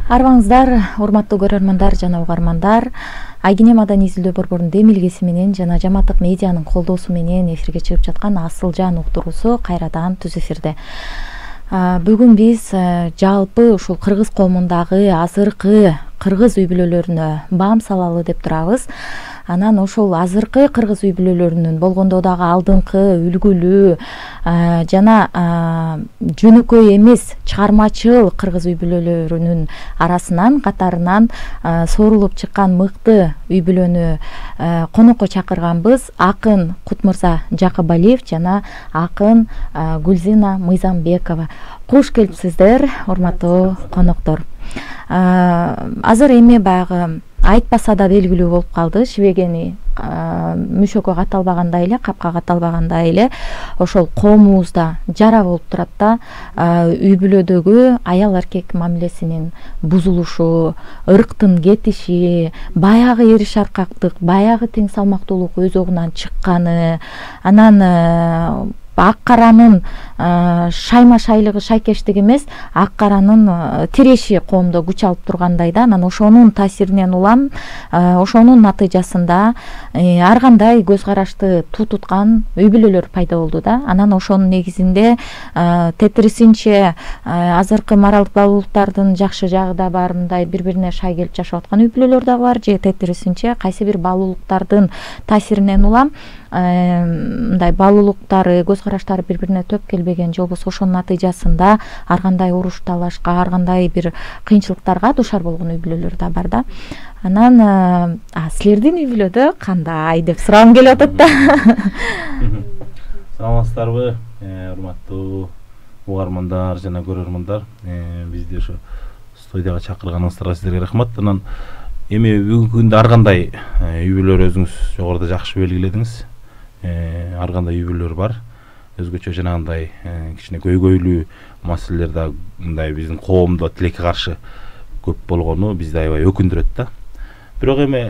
Арбаңыздар, урматтуу көрөрмандар жана угармандар, Айгине маданий изилдөө борборунун демилгеси менен жана Жамааттык медианын колдоосу менен эфирге чыгып жаткан Асыл жан уктуруусу кайрадан түз эфирде. Бүгүн биз жалпы ушул кыргыз коомундагы азыркы кыргыз үй бүлөлөрүнө баам салалы деп турабыз. Анан ошол азыркы кыргыз үй бүлөлөрүнүн болгондо дагы алдыңкы үлгүлүү жана жөнөкөй эмес чыгармачыл кыргыз үй бүлөлөрүнүн арасынан катарынан соорулуп чыккан мыкты үй бүлөнү конокко чакырганбыз. Акын Кутмырза Жакыбалиев жана акын Гүлзина Мыйзамбекова. Куш келипсиздер, урматтуу коноктор. Азыр эми баягы айтпаса да белгилүү болуп калды. Шибегени мүшөккө каталбагандай эле, капка каталбагандай эле ошол коомубузда жара болуп турат да. Үй бүлөдөгү аял эркек мамилесинин бузулушу, ырктын кетиши, баягы эри шаркактык, баягы тең салмактуулук өз огунан чыкканы, анан ак каранын шайма шайлыгы шайкештиги эмес, ак каранын тиреши коомдо күч алып тургандай да. Анан ошонун таасиринен улам, ошонун натыйжасында ар кандай көз карашты туткан үй бүлөлөр пайда болду да. Анан ошонун негизинде тетирисинче азыркы моралдык баалуулуктардын жакшы жагы да бар, мындай бири-бирине шай келип жашап аткан үй бүлөлөр да бар, же тетирисинче кайсы бир баалуулуктардын таасиринен улам мындай баалуулуктары, көз караштары бири-бирине төп келбеген, же болбосо ошонун натыйжасында ар кандай уруш талашка, ар кандай бир кыйынчылыктарга дуушар болгон үй бүлөлөр да бар да. Анан силердин үй бүлөдө кандай деп сурагым келип атат да. Саламатсыздарбы, урматтуу угармандар жана көрөрмандар. Бизди ошо студияга чакырганыңыздарга сиздерге рахмат. Анан эми бүгүнкү күндө ар кандай үй бүлөлөр өзүңүз жогоруда жакшы белгиледиңиз. Ар кандай үй бүлөлөр бар. Өзгөчө жанагындай кичине көйгөйлүү маселелер да мындай биздин коомдо тилекке каршы көп болгону бизди аябай өкүндүрөт да. Бирок эми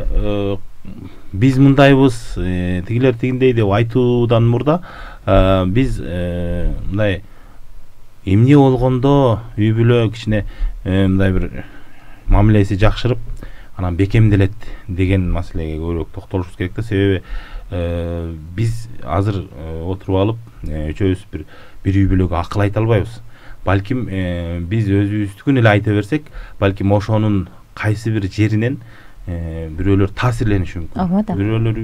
биз мындайбыз, тигилер тигиндей деп айтуудан мурда биз мындай эмне болгондо үй бүлө кичине мындай бир мамилеси жакшырып, анан бекемделет деген маселеге көбүрөөк токтолушубуз керек да. Себеби биз азыр отуруп алып үчөөбүз бир үй бүлөгө акыл айта албайбыз. Балким биз өзүбүздүкүн эле айта берсек, балким ошонун кайсы бир жеринен бирөөлөр таасирлениши мүмкүн. Бирөөлөр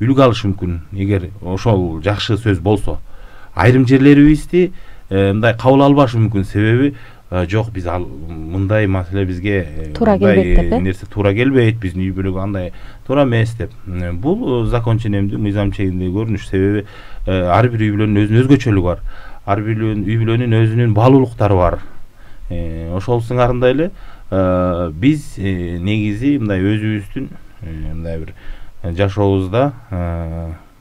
үлгү алышы мүмкүн, эгер ошол жакшы сөз болсо. Айрым жерлерибизди мындай кабыл албашы мүмкүн, себеби жок, биз мындай маселе бизге туура келбейт деп, нерсе туура келбейт, биздин үй бүлөгө андай туура эмес деп. Бул закон ченемдүү, мыйзам чегинде көрүнүш. Себеби ар бир үй бүлөнүн өзүнүн өзгөчөлүгү бар. Ар бир үй бүлөнүн өзүнүн баалуулуктары бар. Ошол сыңарында эле биз негизи мындай өзүбүздүн мындай бир жашообузда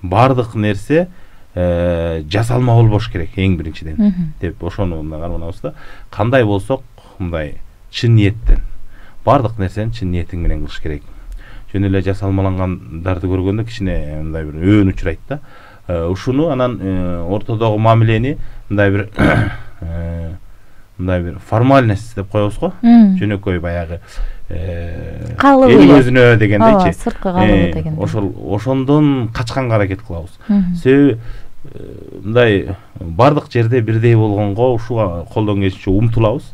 баардык нерсе жасалма болбош керек эң биринчиден деп ошону мындай карманабыз да. Кандай болсок мындай чын ниеттен, баардык нерсени чын ниетиң менен кылыш керек. Жөн эле жасалмалангандарды көргөндө кичине мындай бир өөн учурайт да. Ушуну анан ортодогу мамилени мындай бир формальность деп коебуз го. Жөнөкөй баягы эл өзүнө дегендейчи. Сырткы калыбы деген. Ошондон качканга аракет кылабыз. Себеби мындай бардык жерде бирдей болгонго ушуга колдон келишинче умтулабыз.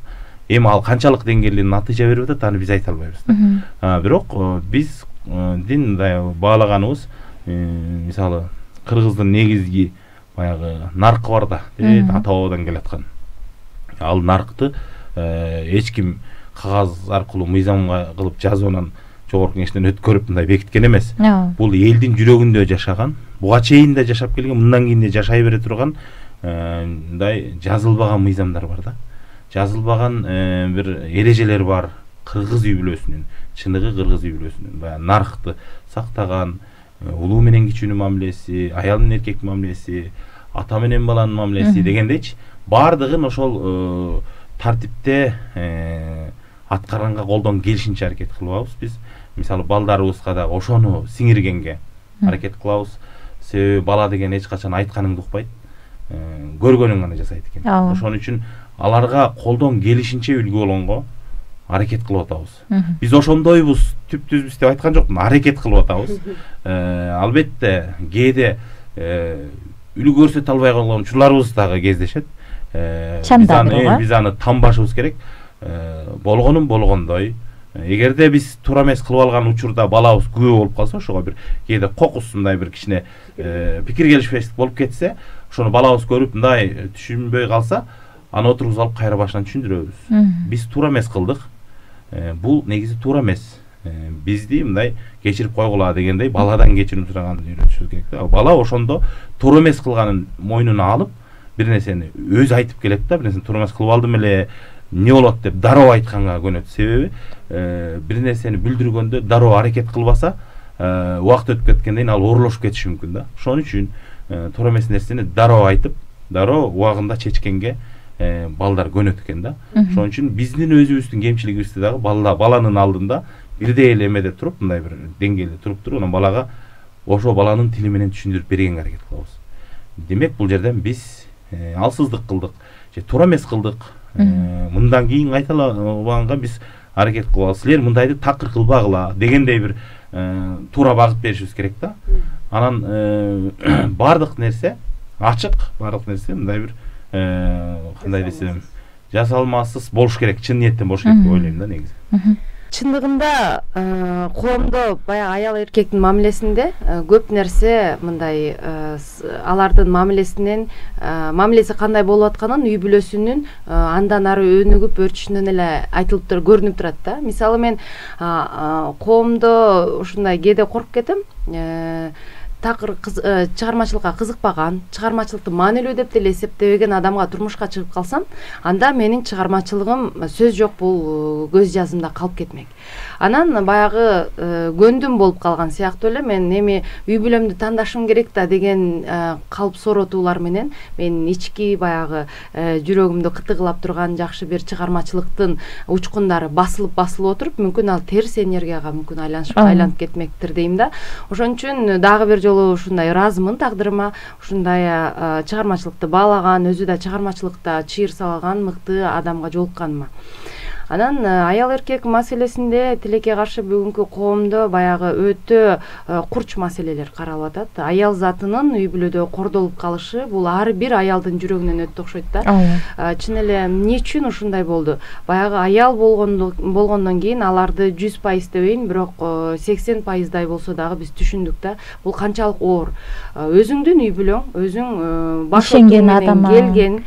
Эми ал канчалык деңгээлде натыйжа берип атат, аны биз айта албайбыз да. Бирок биздин мындай баалаганыбыз, мисалы кыргыздын негизги баягы наркы бар да, ата бабадан келаткан. Ал наркты эч ким кагаз аркылуу мыйзамга кылып жазып анан жогорку кеңештен өткөрүп мындай бекиткен эмес. Бул элдин жүрөгүндө жашаган, буга чейин да жашап келген, мындан кийин да жашай бере турган мындай жазылбаган мыйзамдар бар да. Жазылбаган бир эрежелер бар кыргыз үй бүлөсүнүн, чыныгы кыргыз үй бүлөсүнүн. Баягы наркты сактаган, улуу менен кичүүнүн мамилеси, аял менен эркектин мамилеси, ата менен баланын мамилеси дегендейчи, баардыгын ошол тартипте аткарганга колдон келишинче аракет кылабыз биз. Мисалы балдарыбызга да ошону сиңиргенге аракет кылабыз. Себеби бала деген эч качан айтканыңды укпайт, көргөнүн гана жасайт экен. Ошон үчүн аларга колдон келишинче үлгү болгонго аракет кылып атабыз. Биз ошондойбуз, түптүзбүз деп айткан жокмун, аракет кылып атабыз. Албетте кээде үлгү көрсөтө албай калган учурларыбыз дагы кездешет. Биз аны танбашыбыз керек. Болгонун болгондой. Эгерде биз туура эмес кылып алган учурда балабыз күбө болуп калса, ошого бир кээде кокусундай бир кичине пикир келишпештик болуп кетсе, ошону балабыз көрүп мындай түшүнбөй калса, аны отургузуп алып кайра башынан түшүндүрөбүз. Биз туура эмес кылдык. Бул негизи туура эмес. Бизди мындай кечирип койгула дегендей баладан кечирим сураганды үйрөтүшүбүз керек. Бала ошондо туура эмес кылганын мойнуна алып, бир нерсени өзү айтып келет да, бир нерсени туура эмес кылып алдым эле, эмне болот деп дароо айтканга көнөт. Себеби бир нерсени билдиргөндө дароо аракет кылбаса, убакыт өтүп кеткенден кийин ал оорулошуп кетиши мүмкүн да. Ошон үчүн туура эмес нерсени дароо айтып, дароо убагында чечкенге балдар көнөт экен да. Ошон үчүн биздин өзүбүздүн кемчилигибизди дагы баланын алдында бирдей эле эмеде туруп, мындай бир деңгээлде туруп анан балага ошо баланын тили менен түшүндүрүп бергенге аракет кылабыз. Демек бул жерден биз алсыздык кылдык же туура эмес кылдык. Мындан кийин кайталабаганга биз аракет кылабыз. Силер мындайды такыр кылбагыла дегендей бир туура багыт беришибиз керек да. Анан бардык нерсе ачык, бардык нерсе мындай бир кандай десем, жасалмасыз болуш керек, чын ниеттен болуш керек деп ойлойм да негизи. Чындыгында коомдо баягы аял эркектин мамилесинде көп нерсе мындай алардын мамилеси кандай болуп атканын үй бүлөсүнүн андан ары өнүгүп өрчүшүнөн эле айтылып көрүнүп турат да. Мисалы мен коомдо ушундай кээде коркуп кетем. Такыр чыгармачылыкка кызыкпаган, чыгармачылыкты маанилүү деп деле эсептебеген адамга турмушка чыгып калсам, анда менин чыгармачылыгым сөз жок бул көз жазымда калып кетмек. Анан баягы көндүм болуп калган сыяктуу эле мен эми үй бүлөмдү тандашым керек да деген калп сооротуулар менен мен ички баягы жүрөгүмдү кытыгылап турган жакшы бир чыгармачылыктын учкундары басылып отуруп, мүмкүн ал терс энергияга мүмкүн айланып кетмектир дейм да. Ошон үчүн дагы бир жолу ушундай ыраазымын тагдырыма, ушундай чыгармачылыкты баалаган, өзү да чыгармачылыкта чыйыр салган мыкты адамга жолукканыма. Анан аял эркек маселесинде тилекке каршы бүгүнкү коомдо баягы өтө курч маселелер каралып атат. Аял затынын үй бүлөдө кордолуп калышы бул ар бир аялдын жүрөгүнөн өтүп окшойт да. Чын эле эмне үчүн ушундай болду? Баягы аял болгондон кийин аларды 100% дебейин, бирок 80%дай болсо дагы биз түшүндүк да. Бул канчалык оор. Өзүңдүн үй бүлөң, өзүң баш менен келген,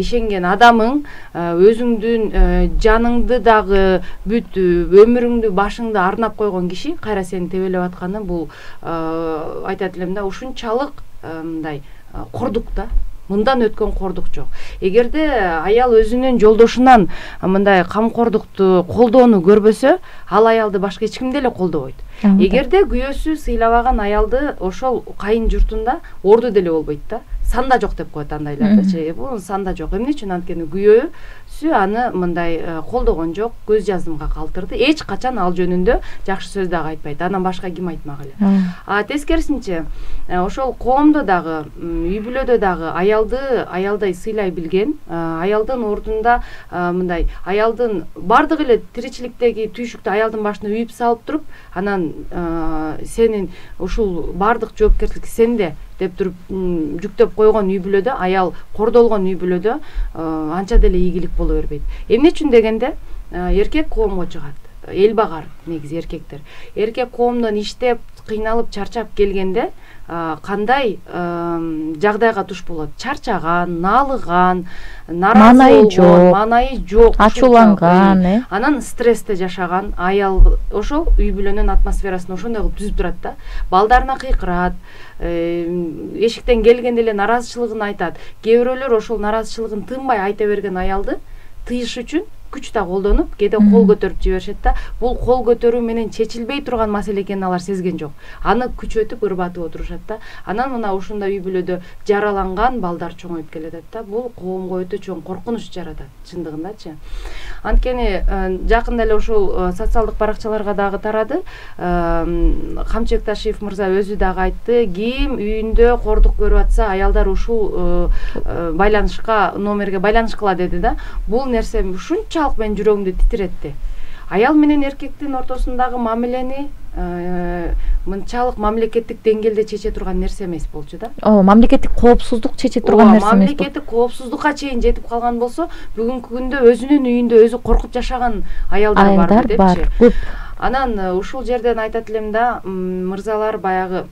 ишенген адамың, өзүңдүн жаның дагы бүт өмүрүңдү башыңды арнап койгон киши кайра сени тебелеп атканы бул айтат элем да, ушунчалык мындай кордук да. Мындан өткөн кордук жок. Эгерде аял өзүнүн жолдошунан мындай камкордукту, колдоону көрбөсө, ал аялды башка эч ким деле колдобойт. Эгерде күйөөсү сыйлабаган аялды ошол кайын журтунда орду деле болбойт да. Санда жок деп коет андайларды. Бул санда жок. Эмне үчүн? Анткени күйөөсү аны мындай колдогон жок, көз жазымга калтырды. Эч качан ал жөнүндө жакшы сөз дагы айтпайт. Анан башка ким айтмак эле. Тескерисинче, ошол коомдо дагы, үй бүлөдө дагы аялдай сыйлай билген, аялдын ордунда мындай аялдын бардык эле тиричиликтеги түйшүктү аялдын башына үйүп салып туруп, анан сенин ушул бардык жоопкерчилик сенде деп туруп жүктөп койгон үй бүлөдө, аял кордолгон үй бүлөдө анча деле ийгилик боло бербейт. Эмне үчүн дегенде, эркек коомго чыгат. Эл багар негизи эркектер. Эркек коомдон иштеп, кыйналып, чарчап келгенде кандай жагдайга туш болот? Чарчаган, налыган, наразы болгон, маанайы жок, ачууланган, анан стрессте жашаган аял ошол үй бүлөнүн атмосферасын ошондой кылып түзүп турат да. Балдарына кыйкырат, эшиктен келгенде эле наразычылыгын айтат. Кээ бирөөлөр ошол наразычылыгын тынбай айта берген аялды тыйыш үчүн күч да колдонуп, кээде кол көтөрүп жиберишет да. Бул кол көтөрүү менен чечилбей турган маселе экенин алар сезген жок. Аны күчөтүп, ырбатып отурушат да. Анан мына ушундай үй бүлөдө жараланган балдар чоңоюп келет да. Бул коомго өтө чоң коркунуч жаратат, чындыгындачы. Анткени жакында эле ушул социалдык баракчаларга дагы тарады. Камчыбек Ташиев мырза өзү дагы айтты, ким үйүндө кордук көрүп атса, аялдар ушул номерге байланышкыла деди да. Бул нерсе ушунчалык менин жүрөгүмдү титиретти. аял менен эркектин ортосундагы мамилени мынчалык мамлекеттик деңгээлде чече турган нерсе эмес болчу да. Мамлекеттик коопсуздук чече турган нерсе эмес. Мамлекеттик коопсуздукка чейин жетип калган болсо, бүгүнкү күндө өзүнүн үйүндө өзү коркуп жашаган аялдар бар депчи. Анан ушул жерден айтат элем да, мырзалар, баягы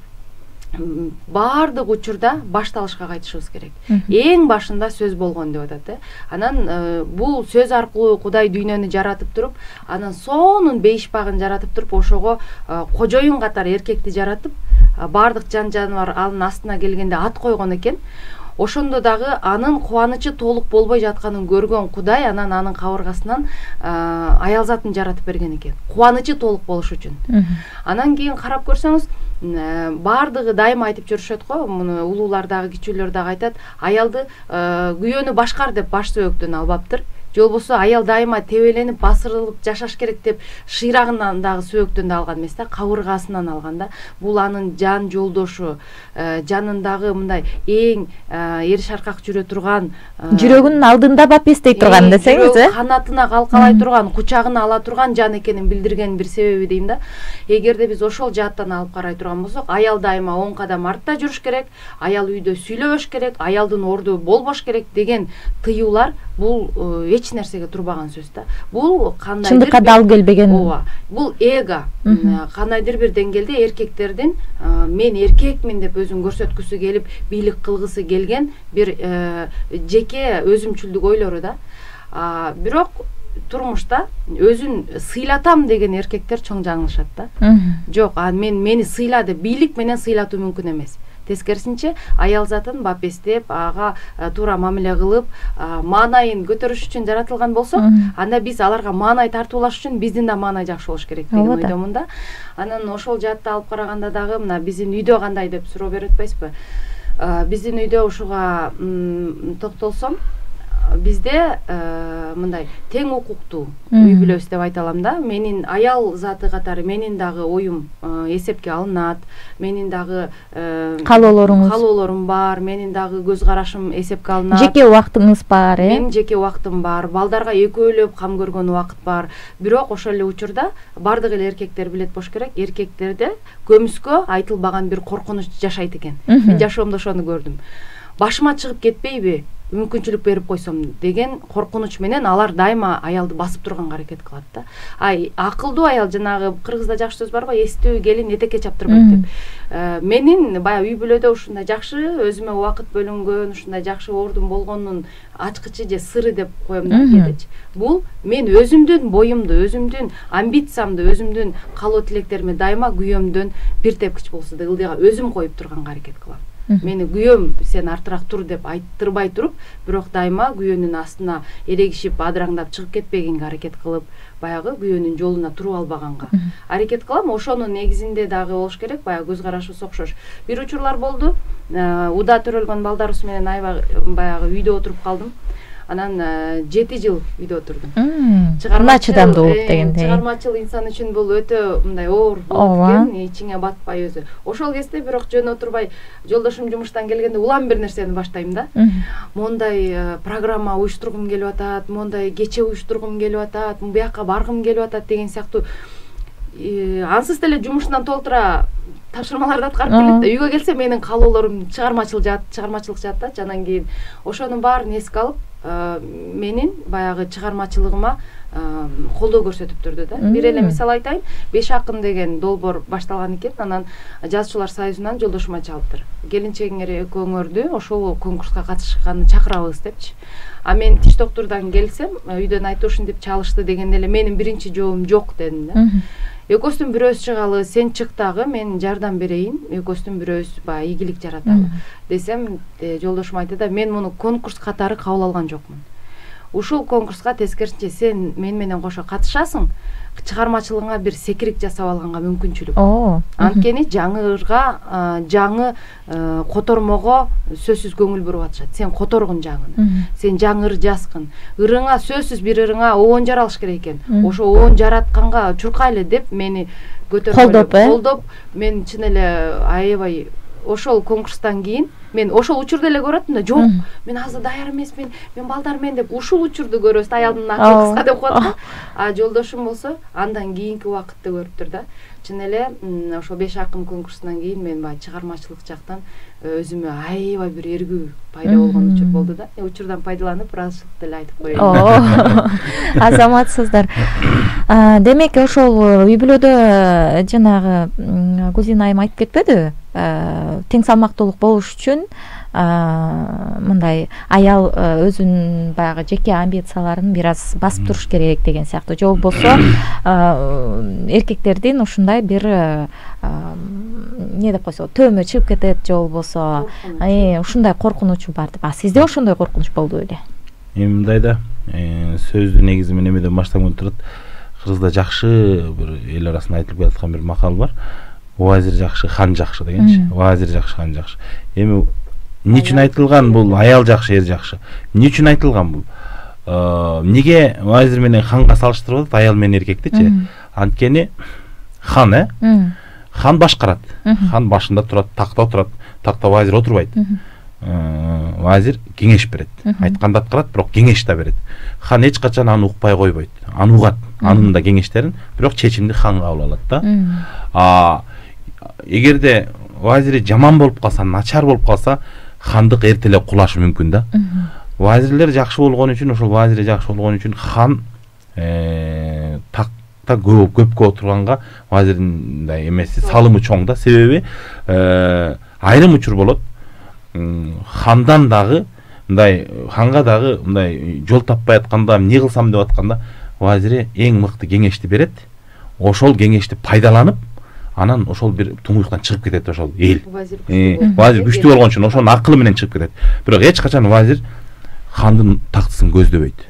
баардык учурда башталышка кайтышыбыз керек. Эң башында сөз болгон деп атат. Анан бул сөз аркылуу Кудай дүйнөнү жаратып туруп, анан сонун бейишпагын жаратып туруп, ошого кожоюн катары эркекти жаратып, баардык жан жаныбар анын астына келгенде ат койгон экен. Ошондо дагы анын кубанычы толук болбой жатканын көргөн Кудай анан анын кабыргасынан аял затын жаратып берген экен. Кубанычы толук болуш үчүн. Анан кийин карап көрсөңүз, баардыгы дайыма айтып жүрүшөт го, муну улуулар дагы, кичүүлөр дагы айтат, аялды күйөөнү башкар деп баш сөөктөн албаптыр. Же болбосо аял дайыма тебеленип, басырылып жашаш керек деп шыйрагынан дагы сөөктөн да алган эмес да, кабыргасынан алган да. Бул анын жан жолдошу, жанындагы мындай эң эр шаркак жүрө турган, жүрөгүнүн алдында бапестей турган десеңиз, канатына калкалай турган, кучагына ала турган жан экенин билдирген бир себеби дейм да. Эгерде биз ошол жааттан алып карай турган болсок, аял дайыма 10 кадам артта жүрүш керек, аял үйдө сүйлөбөш керек, аялдын орду болбош керек деген тыюулар бул эч нерсеге турбаган сөз да. Бул кандайдыр чындыкка дал келбеген. Бул эго. Кандайдыр бир деңгээлде эркектердин мен эркекмин деп өзүн көрсөткүсү келип, бийлик кылгысы келген бир жеке өзүмчүлдүк ойлору да. Бирок турмушта өзүн сыйлатам деген эркектер чоң жаңылышат да. Жок, мени сыйла деп бийлик менен сыйлатуу мүмкүн эмес. Тескерисинче, аял затын бапестеп, ага туура мамиле кылып, маанайын көтөрүш үчүн жаратылган болсо, анда биз аларга маанай тартуулаш үчүн биздин да маанай жакшы болуш керек деген ойдомун да. Анан ошол жаатта алып караганда дагы мына биздин үйдө кандай деп суроо берип атпайсызбы? Биздин үйдө ушуга токтолсом, бизде мындай тең укуктуу үй бүлөбүз деп айта алам да. Менин аял заты катары менин дагы оюм эсепке алынат, менин дагы каалоолорум бар, менин дагы көз карашым эсепке алынат. Жеке убактыңыз бар, Менин жеке убактым бар, балдарга экөөлөп кам көргөн убакыт бар. Бирок ошол эле учурда бардык эле эркектер билет болуш керек, эркектерде көмүскө айтылбаган бир коркунуч жашайт экен. Мен жашоомдо ошону көрдүм. Башыма чыгып кетпейби, мүмкүнчүлүк берип койсом деген коркунуч менен алар дайыма аялды басып турганга аракет кылат да. Акылдуу аял, жанагы кыргызда жакшы сөз бар го, эстүү келин этекке чаптырбайт деп. Менин баягы үй бүлөдө ушундай жакшы өзүмө убакыт бөлүнгөн, ушундай жакшы ордун болгонунун ачкычы же сыры деп коем да кээдечи. Бул мен өзүмдүн боюмду, өзүмдүн амбициямды, өзүмдүн каалоо тилектериме дайыма күйөөмдөн бир тепкич болсо да ылдыйга өзүм коюп турганга аракет кылам. Мени күйөөм сен артыраак тур деп айттырбай туруп, бирок дайыма күйөөнүн астына эрегишип, адыраңдап чыгып кетпегенге аракет кылып, баягы күйөөнүн жолуна туруп албаганга аракет кылам. Ошонун негизинде дагы болуш керек, баягы көз карашыбыз окшош. Бир учурлар болду, уда төрөлгөн балдарыбыз менен аябай баягы үйдө отуруп калдым. Анан 7 жыл үйдө отурдум. Чыдамдуулук дегендей. Чыгармачыл инсан үчүн бул өтө мындай оор болуп кеткен, ичиңе батпай өзү. Ошол кезде бирок жөн отурбай, жолдошум жумуштан келгенде улам бир нерсени баштайм да. Мондай программа уюштургум келип атат, мондай кече уюштургум келип атат, буяка баргым келип атат деген сыяктуу ансыз деле жумушунан толтура тапшырмаларды аткарып келет да. Үйгө келсе менин каалоолорум чыгармачылык жаат да. Анан кийин ошонун баарын эске алып, менин баягы чыгармачылыгыма колдоо көрсөтүп турду да. Бир эле мисал айтайын, 5 акын деген долбоор башталган экен. Анан жазуучулар союзунан жолдошума чалыптыр. Келинчегиңер экөөңөрдү ошол конкурска катышканы чакырабыз депчи. Мен тиш доктурдан келсем, үйдөн айтты ушинтип чалышты дегенде эле менин биринчи жообум жок дедим да. Экөөбүздүн бирөөбүз чыгалы, сен чык дагы, мен жардам берейин, экөөбүздүн бирөөбүз баягы ийгилик жараталы десем, жолдошум айтты да, мен муну конкурс катары кабыл алган жокмун. Ушул конкурска тескерисинче сен мен менен кошо катышасың, чыгармачылыгыңа бир секирик жасап алганга мүмкүнчүлүк. Анткени жаңы котормого сөзсүз көңүл буруп атышат. Сен которгун жаңыны. Сен жаңы ыр жазгын. Ырыңа сөзсүз бир ырыңа оон жаралыш керек экен. Ошо оон жаратканга чуркайлы деп мени көтөрүп колдоп, мен чын эле аябай ошол конкурстан кийин мен ошол учурду эле көрөтмүн да, жок мен азыр даяр эмесмин, мен балдар менен деп ушул учурду көрөбүз, аялдын акылы кыска деп коет да. А жолдошум болсо андан кийинки убакытты көрүптүр да. Чын эле ошол 5 акым конкурсунан кийин мен баягы чыгармачылык жактан өзүмө аябай бир эргүү пайда болгон учур болду да. Учурдан пайдаланып ыраазычылык деле айтып коеюн. Азаматсыздар. Демек ошол үй бүлөдө жанагы Гүлзина айым айтып кетпедиби? Тең салмактуулук болуш үчүн мындай аял өзүнүн баягы жеке амбицияларын бир аз басып туруш керек деген сыяктуу. Же болбосо эркектердин ушундай бир не деп койсо төмө чыгып кетет, же болбосо ушундай коркунучу бар деп. Сизде ошондой коркунуч болду беле? Мындай да, сөздү негизи мен эмеден баштаган турат. Кыргызда жакшы бир эл арасында айтылып келаткан бир макал бар. Вазир жакшы, хан жакшы дегенчи. Вазир жакшы, хан жакшы. Эми эмне үчүн айтылган бул? Аял жакшы, эр жакшы. Эмне үчүн айтылган бул? Неге вазир менен ханга салыштырып атат, аял менен эркектичи? Анткени хан хан башкарат. Хан башында турат, такта отурат. Такта вазир отурбайт. Вазир кеңеш берет. Айтканды аткарат, бирок кеңеш да берет. Хан эч качан аны укпай койбойт. Аны угат. Анын да кеңештерин, бирок чечимди хан кабыл алат да. Эгерде вазири жаман болуп калса, начар болуп калса, хандык эртелеп кулашы мүмкүн да. Вазирлер жакшы болгон үчүн, ошол вазири жакшы болгон үчүн хан такта көпкө отурганга вазирдин мындай эмеси салымы чоң да. Себеби айрым учур болот. Хандан дагы мындай ханга дагы мындай жол таппай атканда, эмне кылсам деп атканда, вазири эң мыкты кеңешти берет. Ошол кеңешти пайдаланып, анан ошол бир туңуюктан чыгып кетет ошол эл. Вазир күчтүү болгон үчүн ошонун акылы менен чыгып кетет. Бирок эч качан вазир хандын тактысын көздөбөйт.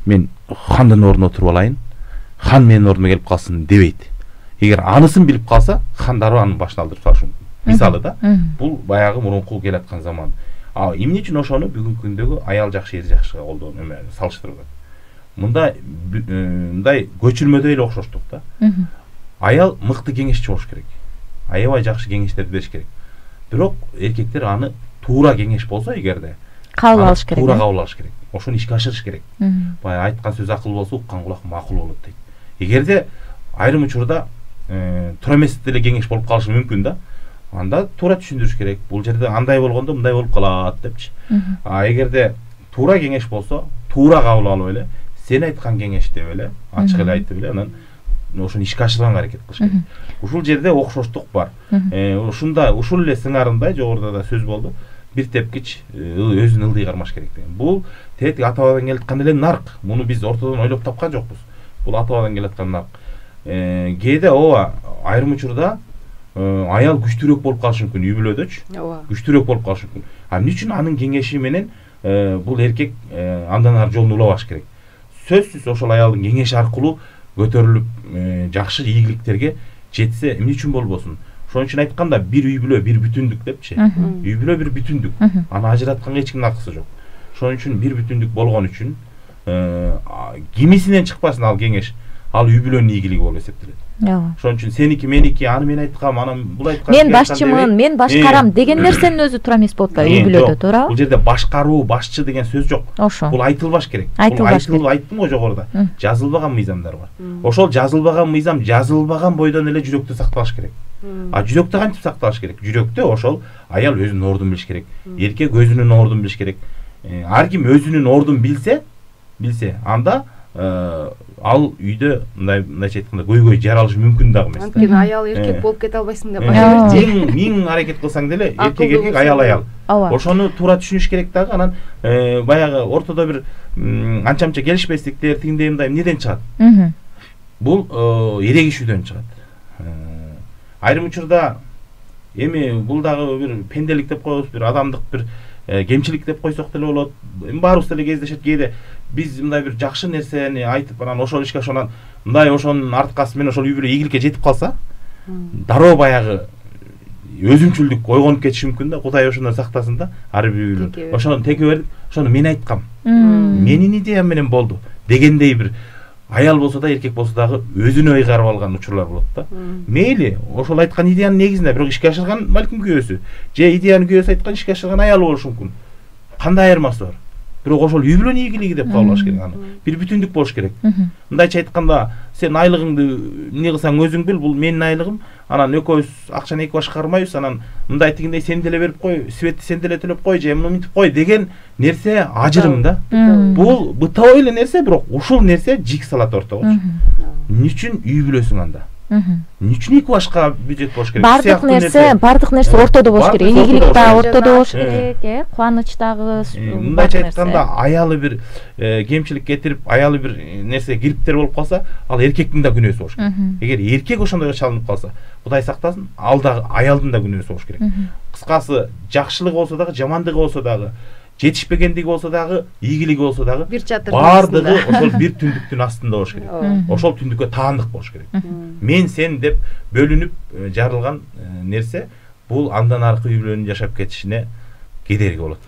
Мен хандын ордуна отуруп алайын, хан менин ордума келип калсын дебейт. Эгер анысын билип калса, хан дароо анын башын алдырып салышы мүмкүн. Мисалы да, бул баягы мурунку келаткан заман. Эмне үчүн ошону бүгүнкү күндөгү аял жакшы, эр жакшыга салыштырып атат? Мындай көчүрмөдө эле окшоштук да. Аял мыкты кеңешчи болуш керек. Аябай жакшы кеңештерди бериш керек. Бирок эркектер аны туура кеңеш болсо, эгерде кабыл алыш керек. Туура кабыл алыш керек. Ошону ишке ашырыш керек. Баягы айткан сөз акыл болсо, уккан кулак макул болот дейт. Эгерде айрым учурда туура эмес деле кеңеш болуп калышы мүмкүн да. Анда туура түшүндүрүш керек. Бул жерде андай болгондо мындай болуп калат депчи. Эгерде туура кеңеш болсо, туура кабыл алып эле, сен айткан кеңеш деп эле, ачык эле айтып эле, анан ошону ишке ашырганга аракет кылыш керек. Ушул жерде окшоштук бар. Ушунда ушул эле сыңарындай жогоруда да сөз болду. Бир тепкич өзүн ылдый кармаш керек деген. Бул тетиги ата-бабадан келаткан эле нарк. Муну биз ортодон ойлоп тапкан жокпуз. Бул ата-бабадан келаткан нарк. Кээде ооба айрым учурда аял күчтүүрөөк болуп калышы мүмкүн, үй бүлөдөчү. Күчтүүрөөк болуп калышы мүмкүн. Эмне үчүн анын кеңеши менен бул эркек андан ары жолун улабаш керек? Сөзсүз ошол аялдын кеңеши аркылуу көтөрүлүп жакшы ийгиликтерге жетсе эмне үчүн болбосун? Ошон үчүн айтканда бир үй бүлө бир бүтүндүк депчи. Үй бүлө бир бүтүндүк. Аны ажыратканга эч кимдин акысы жок. Ошон үчүн бир бүтүндүк болгон үчүн кимисинен чыкпасын ал кеңеш, ал үй бүлөнүн ийгилиги болуп эсептелет. Ошон үчүн сеники меники, аны мен айткам, анан бул айткан. Мен башчымын, мен башкарам деген нерсенин өзү туура эмес болуп атпайбы үй бүлөдө, туурабы? Бул жерде башкаруу, башчы деген сөз жок. Бул айтылбаш керек. Бул айтылып айттым го жогоруда. Жазылбаган мыйзамдар бар. Ошол жазылбаган мыйзам жазылбаган бойдон эле жүрөктө сакталыш керек. Жүрөктө кантип сакталыш керек? Жүрөктө ошол аял өзүнүн ордун билиш керек. Эркек өзүнүн ордун билиш керек. Ар ким өзүнүн ордун билсе, анда ал үйдө мындайча айтканда көйгөй жаралышы мүмкүн дагы эмес. Анткени аял эркек болуп кете албайсың деп айтып. Миң аракет кылсаң деле эркек, аял. Ошону туура түшүнүш керек дагы. Анан баягы ортодо бир анча-мынча келишпестиктер, тигиндей мындай эмнеден чыгат? Бул эрегишүүдөн чыгат. Айрым учурда эми бул дагы бир пенделик деп коебуз, бир адамдык бир кемчилик деп койсок деле болот. Баарыбыз деле кездешет. Кээде биз мындай бир жакшы нерсени айтып, анан ошол ишке ошонан мындай ошонун арткасы менен ошол үй бүлө ийгиликке жетип калса, дароо баягы өзүмчүлдүк ойгонуп кетиши мүмкүн да. Кудай ошондон сактасын да. Ар бир үй бүлө ошону теке берип, ошону мен айткам, менин идеям менен болду дегендей бир аял болсо да эркек болсо дагы өзүнө ыйгарып алган учурлар болот да. Мейли ошол айткан идеянын негизинде бирок ишке ашырган балким күйөөсү же идеянын күйөөсү айткан ишке ашырган аялы болушу мүмкүн. Кандай айырмасы бар? Бирок ошол үй бүлөнүн ийгилиги деп кабыл алыш керек аны. Бир бүтүндүк болуш керек. Мындайча айтканда, сен айлыгыңды эмне кылсаң өзүң бил, бул менин айлыгым. Анан экөөбүз акчаны эки баш кармайбыз, анан мындай тигиндей сен деле берип кой, светти сен деле төлөп кой, же муну мынтип кой деген нерсе ажырым да. Бул бытабый эле нерсе, бирок ушул нерсе жик салат ортогочу. Эмне үчүн үй бүлөсүң анда? Эмне үчүн эки башка бюджет болуш керек? Бардык нерсе ортодо болуш керек. Ийгилик да ортодо болуш керек, кубаныч дагы. Мындайча айтканда, аялы бир кемчилик кетирип, аялы бир нерсе кириптер болуп калса, ал эркектин да күнөөсү болуш керек. Эгер эркек ошондойго чалынып калса, Кудай сактасын, ал дагы аялдын да күнөөсү болуш керек. Кыскасы, жакшылыгы болсо дагы, жамандыгы болсо дагы, жетишпегендиги болсо дагы, ийгилиги болсо дагы, бардыгы ошол бир түндүктүн астында болуш керек. Ошол түндүккө таандык болуш керек. Мен сен деп бөлүнүп жарылган нерсе бул андан аркы үй бүлөнүн жашап кетишине кедерги болот.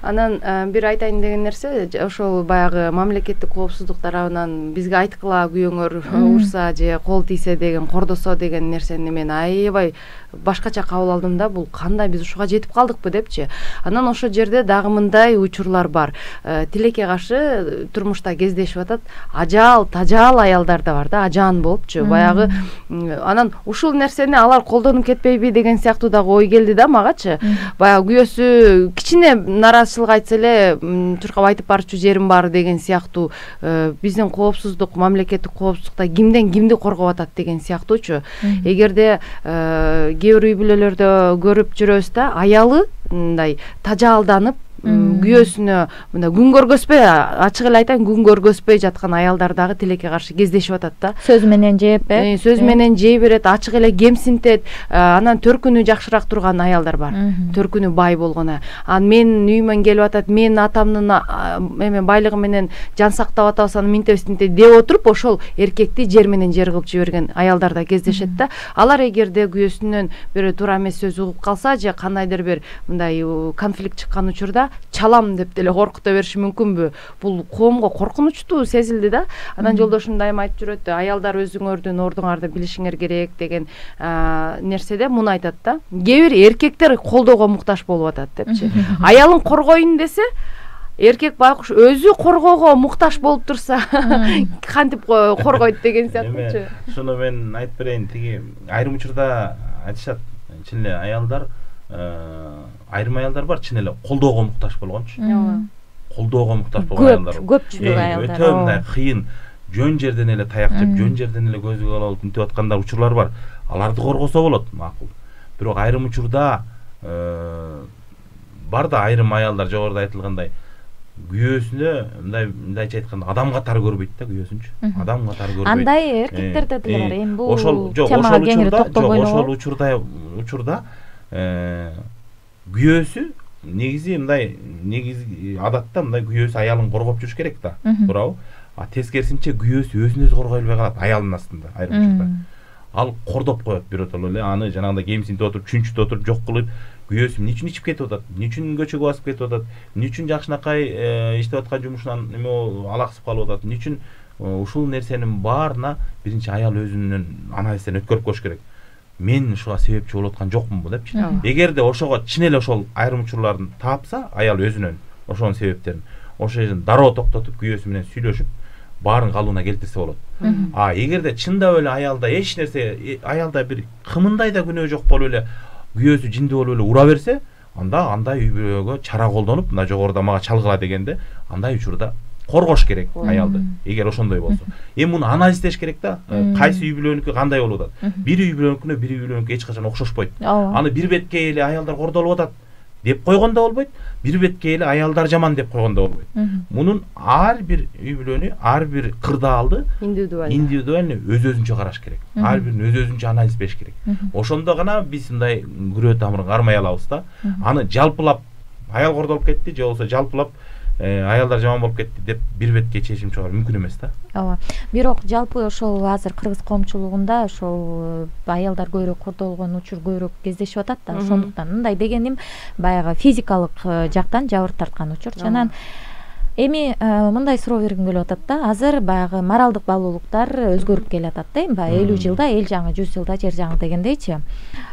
Анан бир айтайын деген нерсе, ошол баягы мамлекеттик коопсуздук тарабынан бизге айткыла күйөөңөр урса же кол тийсе деген, кордосо деген нерсени мен аябай башкача кабыл алдым да, бул кандай биз ушуга жетип калдыкпы депчи. Анан ошол жерде дагы мындай учурлар бар. Тилекке каршы турмушта кездешип атат, ажаал, тажаал аялдар да бар да, ажаан болупчу. Баягы анан ушул нерсени алар колдонуп кетпейби деген сыяктуу дагы ой келди да магачы. Баягы күйөөсү кичине наразычылык айтса эле чуркап айтып барчу жерим бар деген сыяктуу, биздин коопсуздук, мамлекеттик коопсуздукта кимден кимди коргоп атат деген сыяктуучу. Эгерде кээ бир үй бүлөлөрдө көрүп жүрөбүз да, аялы мындай тажаалданып күйөөсүнө мындай күн көргөзбөй, ачык эле айтайын, күн көргөзбөй жаткан аялдар дагы тилекке каршы кездешип атат да. Сөз менен жеп, сөз менен жей берет, ачык эле кемсинтет. Анан төркүнү жакшыраак турган аялдар бар. Төркүнү бай болгону. Анан менин үйүмөн келип атат, менин атамдын байлыгы менен жан сактап атабыз, аны минтебиз деп отуруп, ошол эркекти жер менен жер кылып жиберген аялдар да кездешет да. Алар эгерде күйөөсүнөн бир туура эмес сөз угуп калса же кандайдыр бир мындай конфликт чыккан учурда чалам деп деле коркута бериши мүмкүнбү? Бул коомго коркунучтуу сезилди да. Анан жолдошум дайыма айтып жүрөт, аялдар өзүңөрдүн ордуңарды билишиңер керек деген нерседе муну айтат да. Кээ бир эркектер колдоого муктаж болуп атат депчи. Аялын коргоюн десе, эркек байкуш өзү коргоого муктаж болуп турса, кантип коргойт деген сыяктуучу. Шуну мен айтып берейин, тиги айрым учурда айтышат, чын эле аялдар, айрым аялдар бар, чын эле колдоого муктаж болгончу. Колдоого муктаж болгон аялдар. Көпчүлүк аялдар. Өтө мындай кыйын, жөн жерден эле таяк жеп, жөн жерден эле көзүгө алып мынтип аткандар учурлар бар. Аларды коргосо болот, макул. Бирок айрым учурда бар да, айрым аялдар жогоруда айтылгандай күйөөсүнө мындайча айтканда адам катары көрбөйт да, күйөөсүнчү. Адам катары көрбөйт. Андай эркектерде деле бар. Эми бул темага кеңири токтолбойлу. Ошол учурда күйөөсү негизи мындай, негизи адатта мындай күйөөсү аялын коргоп жүрүш керек да, туурабы? А тескерисинче күйөөсү өзүн өзү коргой албай калат аялдын астында айрым учурда. Ал кордоп коет биротоло эле, аны жанагындай кемсинтип отуруп, чүнчүтүп отуруп, жок кылып, күйөөсү эмне үчүн ичип кетип атат, эмне үчүн көчөгө басып кетип атат, эмне үчүн жакшынакай иштеп аткан жумушунан эме алаксып калып атат, эмне үчүн ушул нерсенин баарына биринчи аял өзүнүн анализден өткөрүп коюш керек. Мен ушуга себепчи болуп аткан жокмунбу депчи. Эгерде ошого чын эле ошол айрым учурларын таапса, аял өзүнөн ошонун себептерин, ошол жерден дароо токтотуп, күйөөсү менен сүйлөшүп, баарын калыбына келтирсе болот. А эгерде чындап эле аялда эч нерсе, аялда бир кымындай да күнөө жок болуп эле, күйөөсү жиндүү болуп эле ура берсе, анда андай үй бүлөгө чара колдонуп, мына жогоруда мага чалгыла дегенде, андай учурда коргош керек аялды. Эгер ошондой болсо. Эми муну анализдеш керек да. Кайсы үй бүлөнүкү кандай болуп атат? Бир үй бүлөнүкүнө бир үй бүлөнүкү эч качан окшошпойт. Аны бир бетке эле аялдар кордолуп атат деп койгондо болбойт, бир бетке эле аялдар жаман деп койгондо болбойт. Мунун ар бир үй бүлөнү, ар бир кырдаалды индивидуально өз-өзүнчө караш керек. Ар бирин өз-өзүнчө анализ бериш керек. Ошондо гана биз мындай күрөө тамырын кармай алабыз да. Аны жалпылап аял кордолуп кетти же болбосо жалпылап аялдар жаман болуп кетти деп бир бетке чечим чыгаруу мүмкүн эмес да. Ооба. Бирок жалпы ошол азыр кыргыз коомчулугунда ошол аялдар көбүрөөк кордолгон учур көбүрөөк кездешип атат да. Ошондуктан мындай дегеним баягы физикалык жактан жабыр тарткан учур. Анан Эми мындай суроо бергим келип атат да. Азыр баягы моралдык баалуулуктар өзгөрүп келатат да. Баягы 50 жылда эл жаңы, 100 жылда жер жаңы дегендейчи.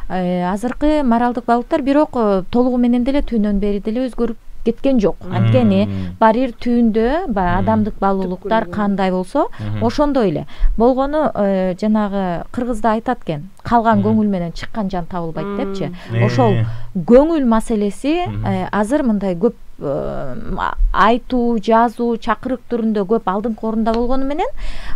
Азыркы моралдык баалуулуктар бирок толугу менен деле түбүнөн бери деле өзгөрүп кеткен жок. Анткени баары бир түбүндө баягы адамдык баалуулуктар кандай болсо, ошондой эле. Болгону жанагы кыргызда айтат экен, калган көңүл менен чыккан жан табылбайт депчи. Ошол көңүл маселеси азыр мындай көп айтуу, жазуу, чакырык түрүндө көп алдыңкы орунда болгону менен,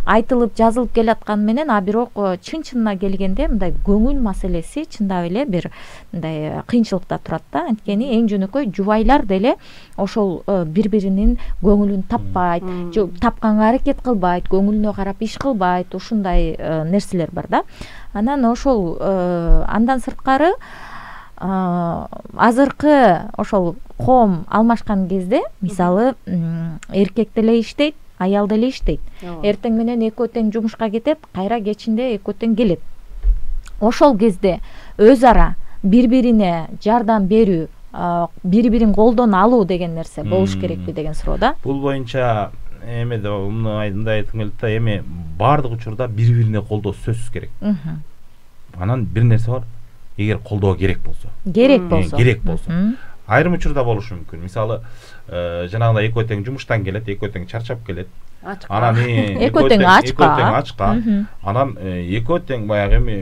айтылып, жазылып келатканы менен, а бирок чын-чынына келгенде мындай көңүл маселеси чындап эле бир мындай кыйынчылыкта турат да. Анткени эң жөнөкөй жубайлар деле ошол бири-биринин көңүлүн таппайт, тапканга аракет кылбайт, көңүлүнө карап иш кылбайт, ушундай нерселер бар да. Анан ошол андан сырткары азыркы ошол коом алмашкан кезде, мисалы, эркек деле иштейт, аял деле иштейт. Эртең менен экөө тең жумушка кетет, кайра кечинде экөө тең келет. Ошол кезде өз ара бири-бирине жардам берүү, бири-бирин колдон алуу деген нерсе болуш керекпи деген суроо да. Бул боюнча эмеде мындай айткым келет да, эми баардык учурда бири-бирине колдоо сөзсүз керек. Анан бир нерсе бар, эгер колдоо керек болсо. Керек болсо. Айрым учурда болушу мүмкүн. Мисалы, жанагындай экөө тең жумуштан келет, экөө тең чарчап келет. Анан экөө тең ачка. Анан экөө тең баягы эми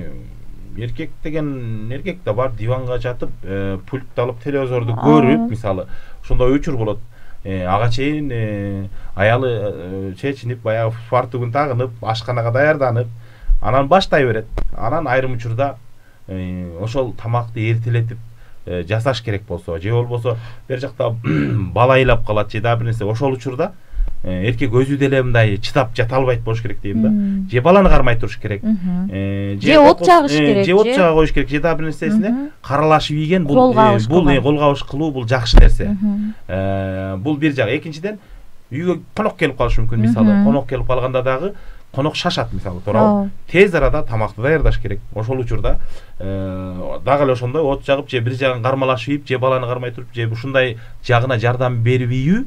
эркек деген эркек да бар, диванга жатып, пультты алып телевизорду көрүп, мисалы, ошондой учур болот. Ага чейин аялы чечинип, баягы фартугун тагынып, ашканага даярданып, анан баштай берет. Анан айрым учурда ошол тамакты эртелетип жасаш керек болсо, же болбосо бер жакта бала ыйлап калат, же да бир нерсе, ошол учурда эркек өзү деле мындай чыдап жата албайт болуш керек дейм да. Же баланы кармай туруш керек, же от жагыш керек, же от жага коюш керек, же да бир нерсесине каралашып ийген, бул кол кабыш кылуу бул жакшы нерсе. Бул бир жак. Экинчиден, үйгө конок келип калышы мүмкүн, мисалы, конок келип калганда дагы конок шашат, мисалы, туурабы? Тез арада тамакты даярдаш керек. Ошол учурда дагы эле ошондой от жагып, же бир жагын кармалашып ийип, же баланы кармай туруп, же ушундай жагына жардам берип ийүү,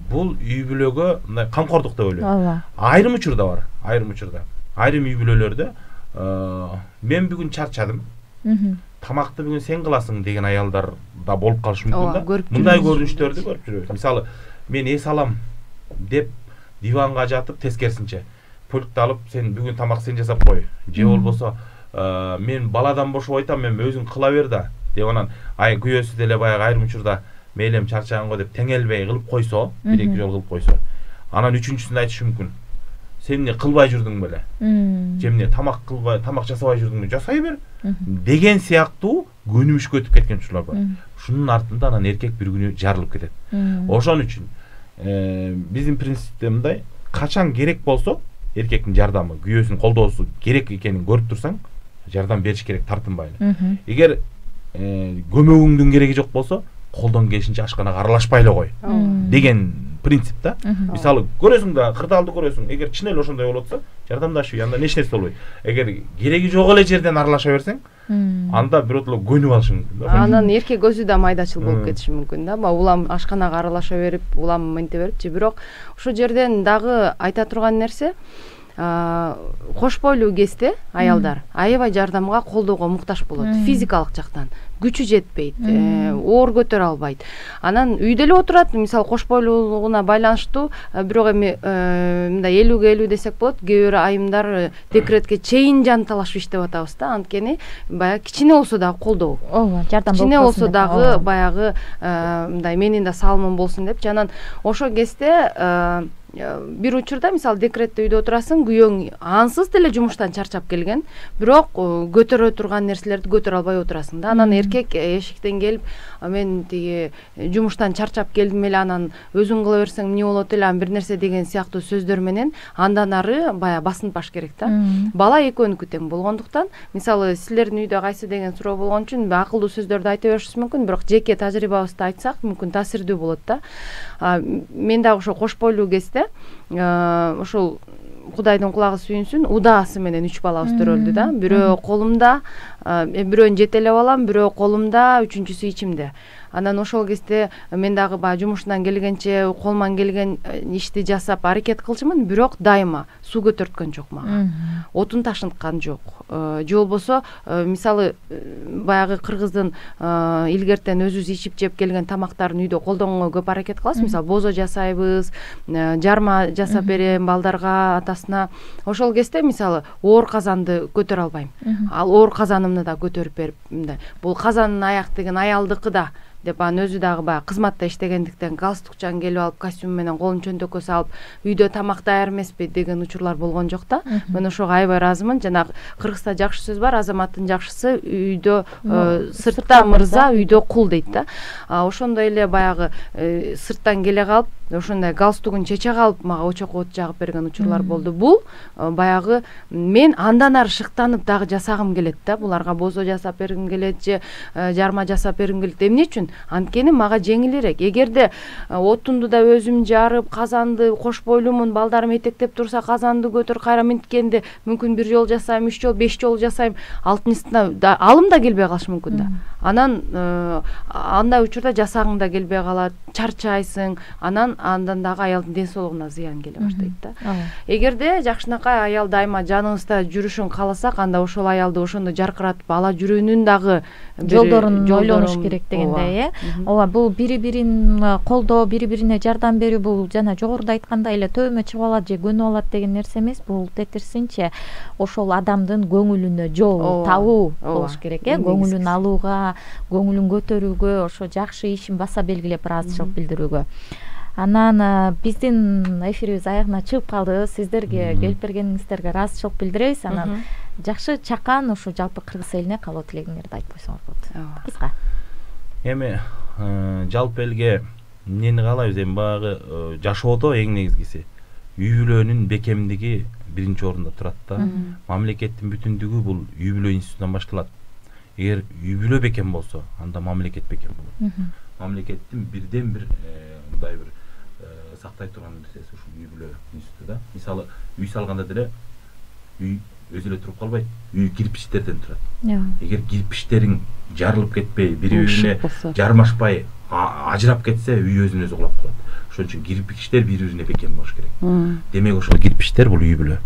бул үй бүлөгө мындай камкордук деп ойлойм. Айрым учурда бар, айрым учурда. Айрым үй бүлөлөрдө мен бүгүн чарчадым, тамакты бүгүн сен кыласың деген аялдар да болуп калышы мүмкүн да. Мындай көрүнүштөрдү көрүп жүрөбүз. Мисалы, мен эс алам деп диванга жатып, тескерисинче пультты алып, сен бүгүн тамак сен жасап кой. Же болбосо, мен баладан бошоп айтам, мен өзүң кыла бер да деп, анан күйөөсү деле баягы айрым учурда мейлем чарчаган го деп теңелбей кылып койсо, бир-эки жолу кылып койсо, анан үчүнчүсүндө айтышы мүмкүн. Сен эмне кылбай жүрдүң беле? Же эмне тамак жасабай жүрдүң, жасай бер деген сыяктуу көнүмүшкө өтүп кеткен учурлар бар. Ушунун артында анан эркек бир күнү жарылып кетет. Ошон үчүн биздин принципте мындай, качан керек болсо эркектин жардамы, күйөөсүнүн колдоосу керек экенин көрүп турсаң, жардам бериш керек, тартынбай эле. Эгер көмөгүңдүн кереги жок болсо, колдон келишинче ашканага аралашпай эле кой деген принцип да. Мисалы, көрөсүң да, кырдаалды көрөсүң, эгер чын эле ошондой болуп атса, жардамдашып, анда эч нерсе болбойт. Эгер кереги жок эле жерден аралаша берсең, анда биротоло көнүп алышы мүмкүн. Анан эркек өзү да майдачыл болуп кетиши мүмкүн да. Улам ашканага аралаша берип, улам мынте берип, же бирок ушул жерден дагы айта турган нерсе, кош бойлуу кезде аялдар аябай жардамга, колдоого муктаж болот. Физикалык жактан күчү жетпейт, оор көтөрө албайт. Анан үйдө эле отурат, мисалы, кош бойлуулугуна байланыштуу, бирок эми мындай 50-50 десек болот. Кээ бир айымдар декретке чейин жан талашып иштеп атабыз да. Анткени баягы кичине болсо дагы колдоо. Жардам болсун. Кичине болсо дагы баягы мындай менин да салымым болсун депчи. Анан ошол кезде бир учурда, мисалы, декретте үйдө отурасың, күйөөң ансыз деле жумуштан чарчап келген, бирок көтөрө турган нерселерди көтөрө албай отурасың да. Анан эркек эшиктен келип, мен тиги жумуштан чарчап келдим эле, анан өзүң кыла берсең эмне болот эле, бир нерсе деген сыяктуу сөздөр менен андан ары баягы басынтпаш керек да. Бала экөөнүкү тең болгондуктан, мисалы, силердин үйдө кайсы деген суроо болгон үчүн акылдуу сөздөрдү айта беришибиз мүмкүн, бирок жеке тажрыйбабызды айтсак, мүмкүн таасирдүү болот да. Мен дагы ошо кош бойлуу кезде ошол Кудайдын кулагы сүйүнсүн, удаасы менен 3 балабыз төрөлдү да. Бирөө колумда, бирөөнү жетелеп алам, бирөө колумда, үчүнчүсү ичимде. Анан ошол кезде мен дагы баягы жумушунан келгенче колуман келген ишти жасап аракет кылчумун, бирок дайыма суу көтөрткөн жок мага. Отун ташыткан жок. Же болбосо мисалы баягы кыргыздын илгертен өзүбүз ичип жеп келген тамактарын үйдө колдонгонго көп аракет кылабыз. Мисалы бозо жасайбыз, жарма жасап берем балдарга, атасына. Ошол кезде мисалы оор казанды көтөрө албайм. Ал оор казанымды да көтөрүп берип, мындай бул казандын аяк деген аялдыкы да деп анан өзү дагы баягы кызматта иштегендиктен галстукчан келип алып, костюм менен колун чөнтөккө салып, үйдө тамак даяр эмеспи деген учурлар болгон жок да. Мен ошого аябай ыраазымын. Жанагы кыргызда жакшы сөз бар, азаматтын жакшысы үйдө сыртта мырза, үйдө кул дейт да. Ошондой эле баягы сырттан келе калып, ошондой галстугун чече калып мага очок от жагып берген учурлар болду. Бул баягы мен андан ары шыктанып дагы жасагым келет да. Буларга бозо жасап бергим келет же жарма жасап бергим келет. Эмне үчүн? Анткени мага жеңилирээк. Эгерде отунду да өзүм жарып, казанды кош бойлумун, балдарым этектеп турса казанды көтөр, кайра минткенде мүмкүн 1 жолу жасайм, 3 жолу, 5 жолу жасайм, алтынчысына алым да келбей калышы мүмкүн да. Анан андай учурда жасагың да келбей калат, чарчайсың. Андан дагы аялдын ден соолугуна зыян келе баштайт да. Эгерде жакшынакай аял дайыма жаныбызда жүрүшүн кааласак, анда ошол аялды ошондой жаркыратып ала жүрүүнүн дагы жолдорун ойлонуш керек дегендей, ооба, бул бири-бирин колдоо, бири-бирине жардам берүү, бул жана жогоруда айткандай эле төбөмө чыгып алат же көнүп алат деген нерсе эмес. Бул тетирсинче ошол адамдын көңүлүнө жол табуу болуш керек, көңүлүн алууга, көңүлүн көтөрүүгө, ошо жакшы ишин баса белгилеп ыраазычылык билдирүүгө. Анан биздин эфирибиз аягына чыгып калды. Сиздерге келип бергениңиздерге ыраазычылык билдиребиз. Анан жакшы чакан ушу жалпы кыргыз элине калуу тилегиңерди айтып койсоңор болот. Кыска. Эми жалпы элге эмнени каалайбыз? Эми баягы жашоодо эң негизгиси үй бүлөнүн бекемдиги биринчи орунда турат да. Мамлекеттин бүтүндүгү бул үй бүлө институтунан башталат. Эгер үй бүлө бекем болсо, анда мамлекет бекем болот. Мамлекеттин бирден бир мындай бир сактай турган нерсеси ушул үй бүлө институту да. Мисалы үй салганда деле үй өзү эле туруп калбайт, үй кирпичтерден турат. Эгер кирпичтериң жарылып кетпей, бири-бирине жармашпай, ажырап кетсе, үй өзүнө өзү кулап калат. Ошон үчүн кирпичтер бири-бирине бекем болуш керек. Демек ошол кирпичтер бул үй бүлө.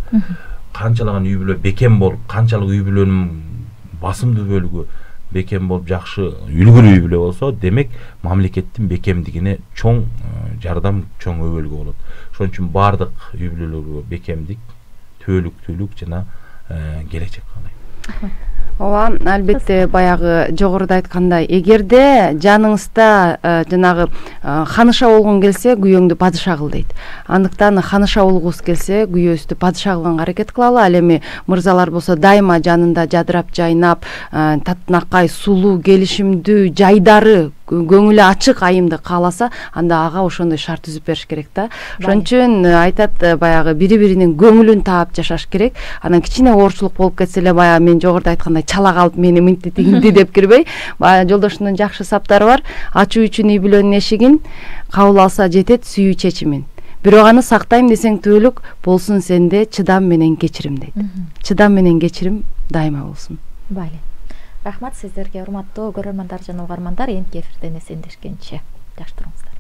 Канчалаган үй бүлө бекем болуп, канчалык үй бүлөнүн басымдуу бөлүгү бекем болуп, жакшы үлгүлүү үй бүлө болсо, демек мамлекеттин бекемдигине чоң жардам, чоң өбөлгө болот. Ошон үчүн бардык үй бүлөлөргө бекемдик, түбөлүктүүлүк жана келечек каалайм. Ооба, албетте баягы жогоруда айткандай, эгерде жаныңызда жанагы ханыша болгон келсе, күйөөңдү падыша кыл дейт. Андыктан ханыша болгубуз келсе, күйөөбүздү падыша кылганга аракет кылалы. Ал эми мырзалар болсо дайыма жанында жадырап жайнап, татынакай, сулуу, келишимдүү, жайдары, көңүлү ачык айымды кааласа, анда ага ошондой шарт түзүп бериш керек да. Ошон үчүн айтат баягы бири-биринин көңүлүн таап жашаш керек. Анан кичине оорчулук болуп кетсе эле, баягы мен жогоруда айткандай чала калып мени мынтип тигинди деп кирбей, баягы жолдошумдун жакшы саптары бар. Ачуу үчүн үй бүлөнүн эшигин, кабыл алса жетет сүйүү чечимин. Бирок аны сактайм десең түбөлүк болсун сенде чыдам менен кечирим дейт. Чыдам менен кечирим дайыма болсун. Байли. Рахмат сиздерге, урматтуу көрөрмандар жана угармандар. Эмки эфирден эсендешкенче жакшы туруңуздар.